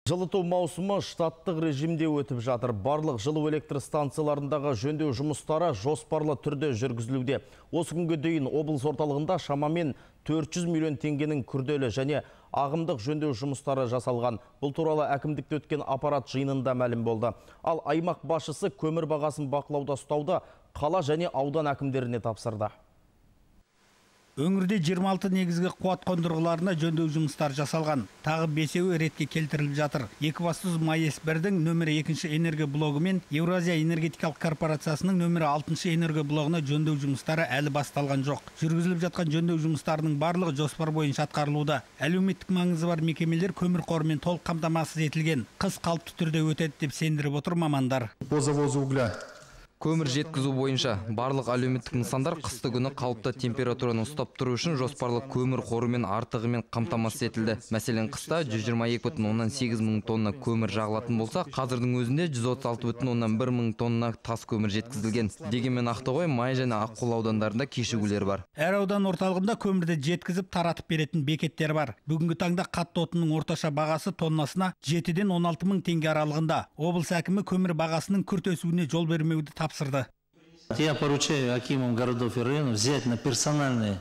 Жылыту маусымы штаттық режимде өтіп жатыр. Барлық жылу электр станцияларындағы жөндеу жұмыстары жоспарлы түрде жүргізілуде. Осы күнге дейін облыс орталығында шамамен 400 миллион теңгенің күрделі және ағымдық жөндеу жұмыстары жасалған. Бұл туралы әкімдікте өткен аппарат жиынында мәлім болды. Ал аймақ басшысы көмір бағасын бақылауда ұстауды қала және аудан әкімдеріне тапсырды. Өңірде 26 негізгі қуат қондырғыларына жөндеу жұмыстар жасалған. Тағы 5-еуі ретке келтіріліп жатыр. Екібастұз МАЭС-1-дің нөмірі 2 энергия блогы мен Еуразия энергетикалық корпорациясының нөмірі 6 энергия блогына жөндеу жұмыстары әлі басталған жоқ. Жүргізіліп жатқан жөндеу жұмыстарының барлығы жоспар бойынша атқарылуда. Әлеуметтік маңызы бар мекемелер көмір қорымен толық қамтамасыз етілген. Қыс қалыпты түрде өтеді деп сендіріп отыр мамандар. По завозу угля. Көмір жеткізу бойынша барлық әлеуметтік нысандар қысты күні қалыпты температураны ұстап тұру үшін жоспарлы көмір қорымен артығымен қамтамасыз етілді. Мәселен, қыста 122,8 мың тонна көмір жағылатын болса, қазірдің өзінде 136,1 мың тонна тас көмір жеткізілген. Дегенмен Ақтоғай, Май және Аққол аудандарында кешігулер бар. Әр аудан орталығында көмірді жеткізіп таратып беретін бекеттер бар. Бүгінгі таңда қатты отынның орташа бағасы тоннасына 7-ден 16 мың теңге аралығында. Облыс әкімі көмір бағасының күрт өсуіне жол бермеуді тапсырды. Я поручаю акимам городов и районов взять на персональные.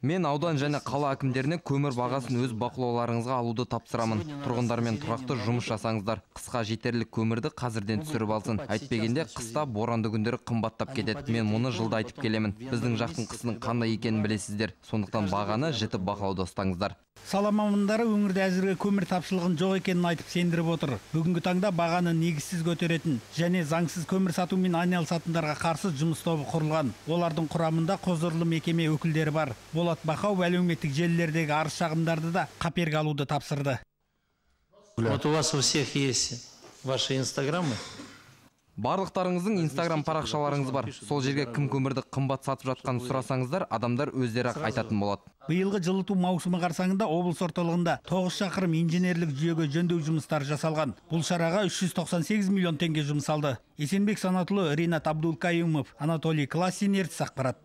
Мен аудан және қала әкімдеріне көмір бағасын өз бақылауларыңызға алуды тапсырамын. Тұрғындармен тұрақты жұмыс жасаңыздар. Қысқа жетерлік көмірді қазірден түсіріп алсын. Әйтпегенде қыста боранды күндері қымбаттап кетеді. Мен мұны жылда айтып келемін. Біздің жақтың қысының қандай екенін білесіздер. Сондықтан бағаны жіті бақылауда ұстаңыздар. Сала мамандары өңірде әзірге көмір тапшылығын жоқ екенін айтып сендіріп отыр. Бүгінгі таңда бағаны негізсіз көтеретін және заңсыз көмір сатумен айналысатындарға қарсы жұмыс тобы құрылған. Олардың құрамында құзырлы мекеме өкілдері бар. Болат Бақау әлеуметтік желілердегі арыз шағымдарды да қаперге алуды тапсырды. Вот у вас у всех есть ваши инстаграмы. Барлықтарыңыздың инстаграм парақшаларыңыз бар. Сол жерге кім көмірді қымбат сатып жатқанын сұрасаңыздар, адамдар өздері айтатын болады. Биылғы жылыту маусымы қарсаңында облыс орталығында 9 шақырым инженерлік жүйеге жөндеу жұмыстары жасалған. Бұл шараға 398 миллион теңге жұмсалды. Есенбек Санатұлы, Ринат Абдулкаюмов, Анатолий Классин, ертіс ақпарат.